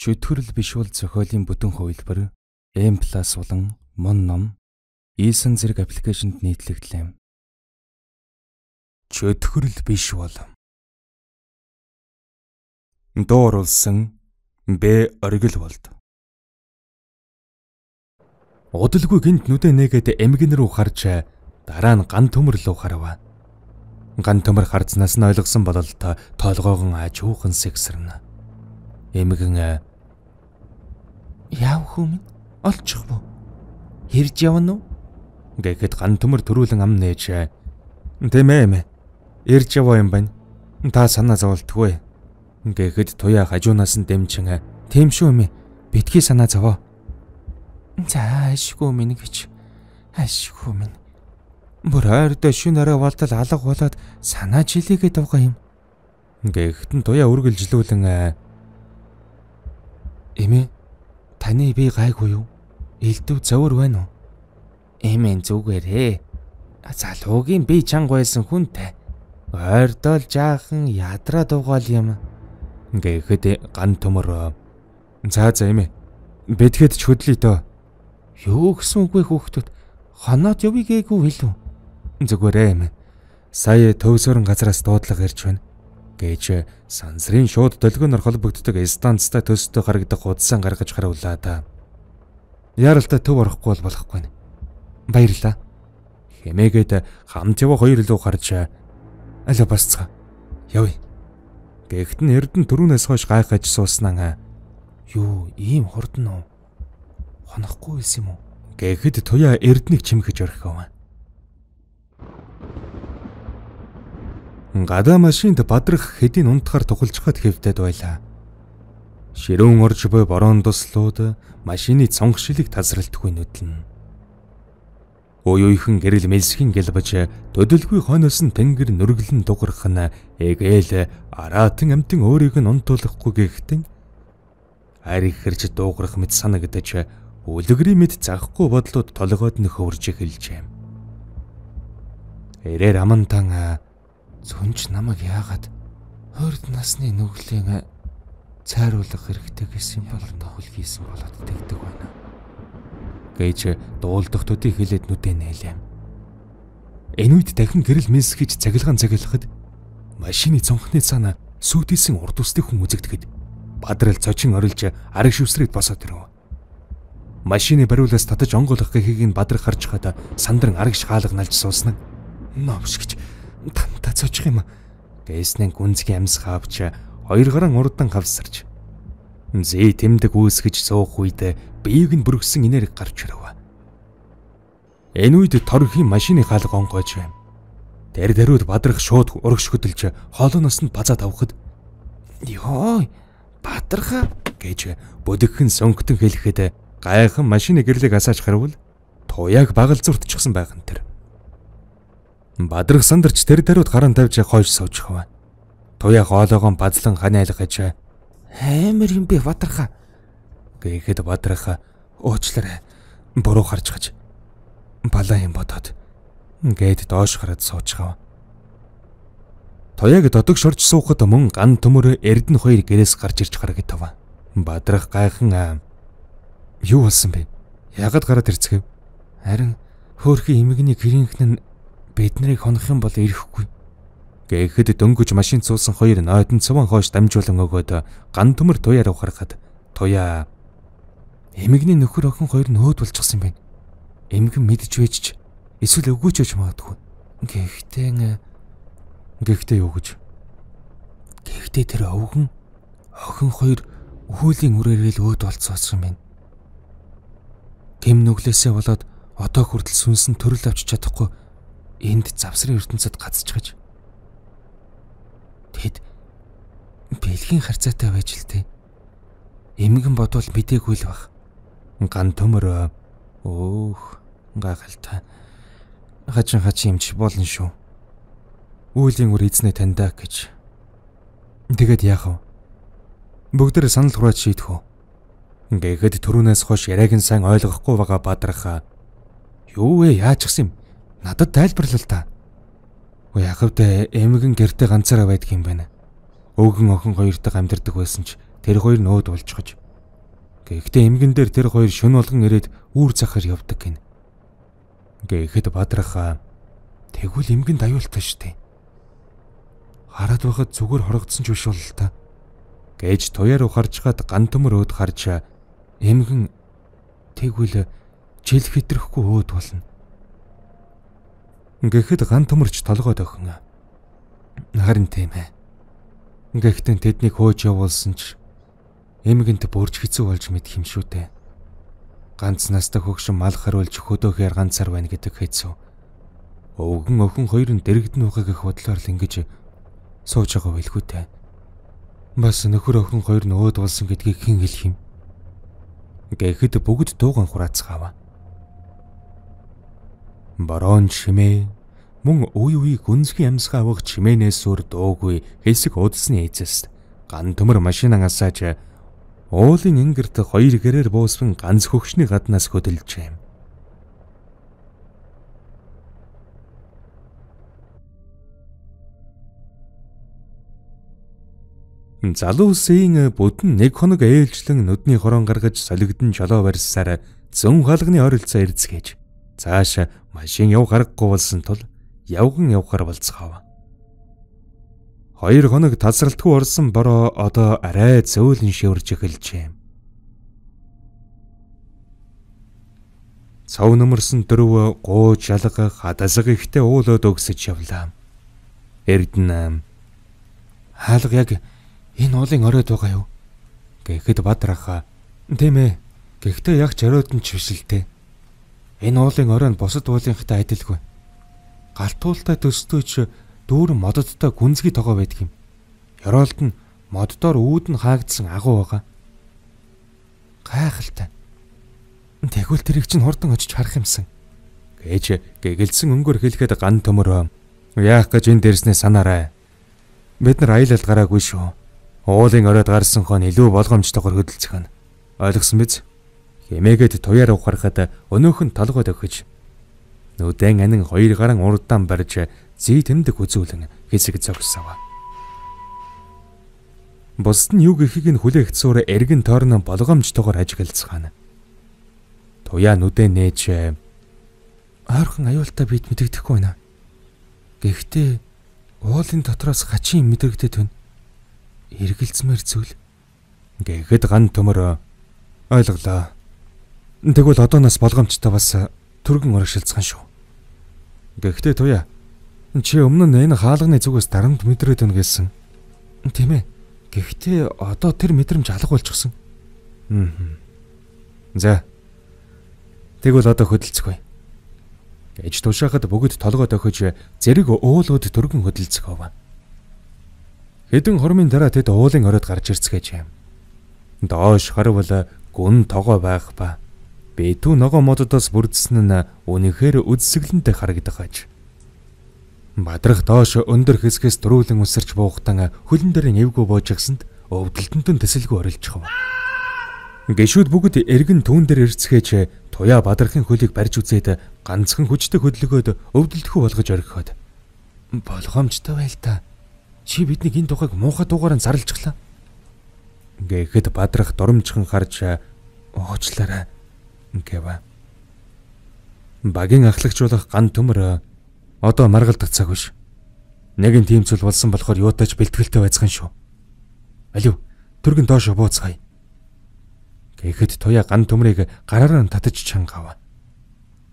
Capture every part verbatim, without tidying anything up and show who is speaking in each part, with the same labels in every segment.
Speaker 1: Чөтгөрөл биш бол зохиолын бүтэн хувилбар M+ болон Мон ном Ийсэн зэрэг аппликейшнд нийтлэгдлээ. Чөтгөрөл биш бол дууруулсан Б оргил болд. Удалгүй гинт нүдэ нэгэд эмгэн рүү харж дараа нь ган төмөр рүү харав. Ган төмөр харцнаас нь ойлгосон бололтой тоолгоогон ажуухан сэгсэрнэ. Эмгэн яав хүм олчих бо. Хэрж явна уу? Гэхэд ган төмөр төрүүлэн ам нээж тэмээ ирж яваа юм байна. Та санаа зоволтгүй. Гэхэд туяа хажуунаас нь дэмчин тийм шүү юм. Битгий санаа зовоо. За ашгүй минь гэж. Ашгүй минь. Бүр ойрдоо шүнээрээ болтол алга болоод санаа жилигээ дуугаа юм. Гэхэд нь туяа үргэлжлүүлэн эмээ таны би гайгүй юу? Элдв зовөр байна уу? Эмээ зүгээрээ. Залуугийн би чанга байсан хүнтэй. Ойрдоо л жаахан ядраа дуугаал юм. Гэхэд ган төмөр за за эмээ бэтгэд ч хөдлөе дөө. Юу гэсэн үгүй хүүхдүүд хоноод явъя гээгүй хэлв. Зүгээрээ эмээ. Сая төвсөрөн газраас дуудлага ирж байна. Гэж сансрын шууд долгионоор холбогддог станцтай төстэй харагдах удсан гаргаж харууллаа та. Яралтай төв орохгүй бол болохгүй. Баярлаа. Хэмээгээд хамт яваа хоёр лөө харж аль басцгаа. Явъя. Гэхдээ нь эрдэн түрүүнээс хойш гайхаж сууснаа. Юу ийм хурдан уу? Хонохгүй байсан юм уу? Гэхэд туяа эрднийг чимхэж орхив. Гадаа машинд бадрах хэдийн унтахаар тухалжхад хэвтээд байлаа. Ширүүн орж буй борон туслууд машины цонх шилийг тасралтгүй нүдлэн. Уюуйхан гэрэл мэлсхийн гэлбэж төдөлгүй хойноос нь тэнгэр нүргэлэн дугарах нь эгээл араатан амтэн өөрийг нь унтуулахгүй гэхтэн ариг хэрж дуугарах мэт санагдаж үлгэрийн мэд захгүй бодлоод толгойд нь хөвөрж эхэлжээ. Эрээр амантан зүнч намайг яагаад хурд насны нүглийн цайруулах хэрэгтэй гэсэн бол тохол хийсэн болоод тэгдэг байна. Гэж дуулдахдуудыг хэлээд нүдэ нээлээ. Энэ үед дахин гэрэл мэлсгийж цагилгаан цагилахад машины цонхны цаана сүйдэлсэн урд усны хүн үзэгдэхэд бадрал цочин орилж ариг шүсрээд босоод ирв. Машины бариулаас татаж онгоолох гэхийг нь бадрах харж хаад сандран ариг шгаалга налж сууснаа. Новш гэж танта цочих юм. Гэснэн гүнзгий амс хаавч хоёр гараан урдан хавсарч зээ тэмдэг үүсгэж суух үед биеийг нь бүргсэн инээр гарч ирв. Энэ үед торхийн машины хаалга онгойж байна. Тэр даруйд бадрах шууд урагш хөдөлж хоолооноос нь базаад авахд ёо бадраха гэж бүдэгхэн сөнгөтөн хэлэхэд гайхан машины гэрлийг асааж харвал туяаг багал зуртчихсан байхын тэр. Бадрах сандарч тэр даруйд гаран тавьж хойш суучихв. Туяа хоолоогоо базлан ханиалгаж амар юм бэ бадраха гэхэд бадраха уучлаарай буруу харж гаж балаа юм бодоод гээд доош хараад суучихав. Туяаг додог шорж суухад мөн ган төмөр эрдэн хоёр гэрээс гарч ирж харагдав. Бадрах гайхан юу болсон бэ? Яагаад гараад ирцгээв? Харин хөөрхий эмэгний гэрийнхэн нь биднийг хонох юм бол ирэхгүй. Гэхэд дөнгөж машин цуусан хоёр нойдон цуван хойш дамжуулан өгөөд ган төмөр туяар ухарахад туяа эмэгний нөхөр охин хоёр нь өөд болчихсон юм байна. Эмгэн мэдж вэжч эсвэл өгөөч гэж магадгүй. Гэхдээ гэхдээ юу гэж? Гэхдээ тэр өвгөн охин хоёр өхөөлийн үрээрэл өөд болцсон юм байна. Гэм нүглээсээ болоод одоо хүртэл сүнсэн төрөл авч чадахгүй энд завсрын ертөнцид гацчихж. Тэгэд бэлгийн харцаатай байж л тээ. Эмгэн бодвол мэдээгүй л баг. Ган төмөр өөх гайхалтай. Хачин хачин юмч болно шүү. Үүлийн үр эзнээ таньдаа гэж. Тэгэд яах вэ? Бүгдээр санал хурааж шийдэх үү? Гэхэд түрүүнээс хойш яриаг нь сайн ойлгохгүй байгаа бадраха. Юу вэ? Яаж гсэн юм? Надад тайлбарлал та. Яхавдаа эмгэн гэртээ ганцаараа байдаг юм байна. Өвгөн охин хоёртойгоо амьдардаг байсан ч тэр хоёр нөөд болчихож Гэхдээ эмгэн дээр тэр хоёр шөнө болгон ирээд үүр захаар явдаг гин. Гэхэд бадрахаа тэгвэл эмгэнд аюултай штэ. Хараад байхад зүгээр хорогдсон ч биш бол л та. Гэж туяар ухарж гад ган төмөр өөд харж эмгэн тэгвэл жил хитрэхгүй өөд болно. Гэхэд ган төмөрч толгойд охин. Харин тийм ээ. Гэхдээ тэднийг хөөж явуулсан ч эмгэнт бүрж хэцүү болж мэдх юм шүү дээ. Ганц настай хөгшин мал харуулж хөдөөхээр ганцаар байна гэдэг хэцүү. Өвгөн охин хоёр нь дэрэгдэн байгаа гэх бодлоор л ингэж сууж байгаа байлгүй дээ. Бас нөхөр охин хоёр нь өөд болсон гэдгийг хэн хэлэх юм? Гэхэд бүгд дууган хураацгаава. Барон чимээ мөн үе үе гүнзгий амьсгаа авах чимээнээс өөр дуугүй хэсэг удасны эцэс ган төмөр машинаа асааж уулын ингэрт хоёр гэрээр буусван ганц хөгшний гаднаас хөдөлжээ. Залуу үсийн бүдэн нэг хоног ээлжлэн нүдний хорон гаргаж солигдсон жолоо барьсаар зүүн хаалганы ойролцоо эрдэцгээж цааш машин явах аргагүй болсон тул явган явахаар болцгоов. Хоёр хоног тасралтгүй орсон бороо одоо арай зөөлөн шивэрж эхэлжээ. Цав нөмөрсөн дөрөв гууж ялга хадасга ихтэй уулууд өгсөж явлаа. Эрдэнэ хаалга яг энэ уулын оройд байгаа юу? Гэхэд бадрахаа тийм ээ. Гэхдээ яг ч оройд нь ч биш л дээ. Энэ уулын орой нь бусад уулынхтай адилгүй. Галтуултай төстөөч дүүрэн мододтой гүнзгий тогоо байдаг юм. Ёроолд нь моддоор үүд нь хаагдсан агуу байгаа. Гайхалтай. Тэгвэл тэрийг чинь хурдан очиж харах юмсан. Гэж гэгэлсэн өнгөөр хэлэхэд ган төмөр яах гэж энэ дэрснээ санаарай. Бид нар аялал гараагүй шүү. Уулын оройд гарсан хон илүү болгоомжтойгоор хөдөлцөх нь. Ойлгосон биз? Хэмээгээд туяар ухарахад өнөөхөн толгойд өгч нүдэн анин хоёр гарan урдаан барьж зүй тэмдэг үзүүлэн хэсэг зогсов. Бусд нь юу гэхийг нь хүлээх зуур эргэн тойрон болгоомжтойгоор ажиглацгаана. Туяа нүдэн нээж ойрхон аюултай бид мэдэгдэхгүй байна. Гэхдээ уулын дотроос хачин мэдрэгдээд байна. Эргэлзмэр зүйл. Гэхэд ган төмөр ойлголоо. Тэгвэл одооноос болгоомжтой бас түргэн урагшилцсан шүү. Гэхдээ туяа чи өмнө нь энэ хаалганы зүгээс дарамт мэдрээд өгнө гэсэн. Тийм ээ. Гэхдээ одоо тэр мэдрэмж алга болчихсон. Аа. За. Тэгвэл одоо хөдөлцгөө. Гэж тушаахад бүгд толгой дохиж зэрэг уулууд түргэн хөдөлцгөөв. Хэдэн хормын дараа тэд уулын оройд гарч ирцгээжээ. Доош харвал гүн тогоо байх ба битүү ногоо мододоос бүрдсэн нь үнэхээр үдсгэлэнтэй харагдаж. Бадрах доош өндөр хэсгээс дөрүүлэн үсэрч буухтан хөлн дээр нэвгүй боожгсанд өвдөлтөнд төсөлгүй орилжхав. Гişүүд бүгд эргэн түүн дээр ирцгээж туяа бадрахын хөлийг барьж үзээд ганцхан хүчтэй хөдөлгөөд өвдөлтхүү болгож орхиход болгоомжтой байл та. Чи биднийг энэ тухайг муухай дуугаараа зарлжглаа. Гэхэд бадрах дурамжхан харж уучлаарай гэв. Багийн ахлагжуулах ган төмөр одоо маргалдах цаг биш. Нэгэн тийм зүйл болсон болохоор юутаач бэлтгэлтэй байцгаан шүү. Алив түргэн доош бууцгаая. Гэхэд туяа ган төмрийг гараараа татаж чангав.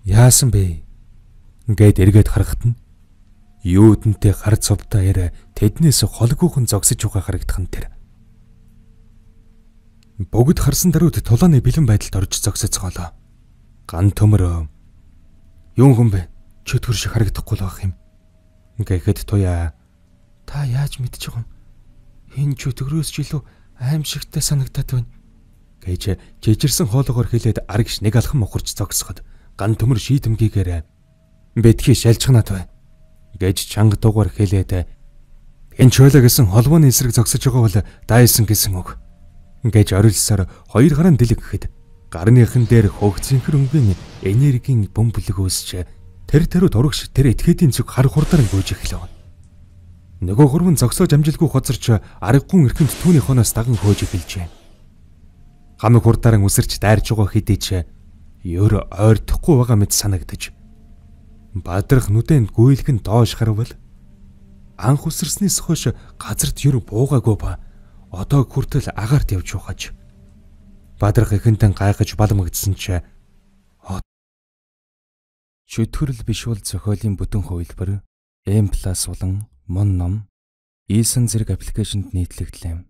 Speaker 1: Яасан бэ? Гэд эргээд харахад нь юудэнтэй гар цовдоо яриа тэднээс холгүйхэн зогсож байгаа харагдах нь тэр. Бүгд харсан даруйд тулааны бэлэн байдалд орж зогсоцгоолоо. Ган төмөр юун хүн бэ? Чөтгөр шиг харагдахгүй л байх юм. Гэхэд туяа та яаж мэдчих юм? Энэ чөтгөрөөс ч илүү аимшигтай санагдаад байна. Гэж жижирсэн хоолоогоор хэлээд аргиш нэг алхан мохорч зогсоход ган төмөр шийдэмгийгээр бэтгий шалжхнаад бай. Гэж чанга дуугаар хэлээд энэ чөлөө гэсэн холбооны эсрэг зогсож байгаа бол дайсан гэсэн үг. Гэж орилсоор хоёр гараан дэлэг гэхэд гарныхан дээр хөгцөнхөр өнгийн энергийн бөмбөлөг үүсч тэр тэрүүд урагш тэр этгээдийн зүг хар хурдаар гүйж эхлэв. Нөгөө хөрвөн зогсоож амжилгүй хоцорч аргагүй эрхэнд түүний хоноос даган хөөж эхэлжээ. Гамиг хурдаараа үсэрч дайрж байгаа хэдий ч ёр ойртохгүй байгаа мэт санагдаж. Бадрах нүдэнд гүйлгэн доош харвал анх үсэрснээс хойш газарт ёр буугаагүй ба одоо хүртэл агаарт явж ухаж. Бадрах ихэнтэн гайхаж баламгдсан ч чөтгөрл биш бол зохиолын бүтэн хувилбар M+ болон Mon ном Eason зэрэг аппликейшнд нийтлэгдлээ.